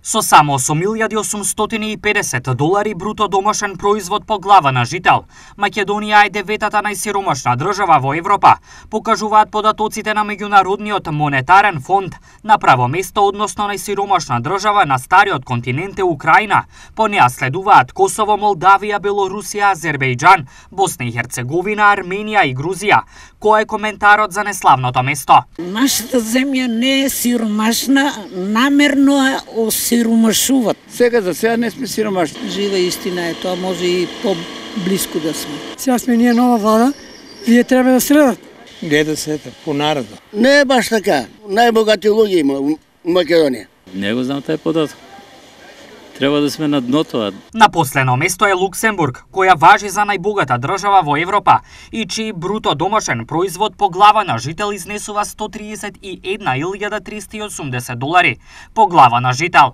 Со само $8.850 бруто домашен производ по глава на жител, Македонија е деветата најсиромашна држава во Европа, покажуваат податоците на Меѓународниот монетарен фонд. На право место, односно најсиромашна држава на стариот континент е Украина. По неа следуваат Косово, Молдавија, Белорусија, Азербејџан, Босна и Херцеговина, Арменија и Грузија. Кој е коментарот за неславното место? Нашата земја не е сиромашна, намерно е осиромашуваат. Сега за сега не сме сиромашни. Жива истина е тоа, може и по-блиску да сме. Сега сме ние нова влада, вие треба да следат. Гледа се по народот. Не е баш така. Најбогати луѓе има у Македонија. Не го знам тај податок. Треба да сме на дното. На последно место е Луксембург, која важи за најбогата држава во Европа и чиј бруто домашен производ по глава на жител изнесува $131.380 по глава на жител.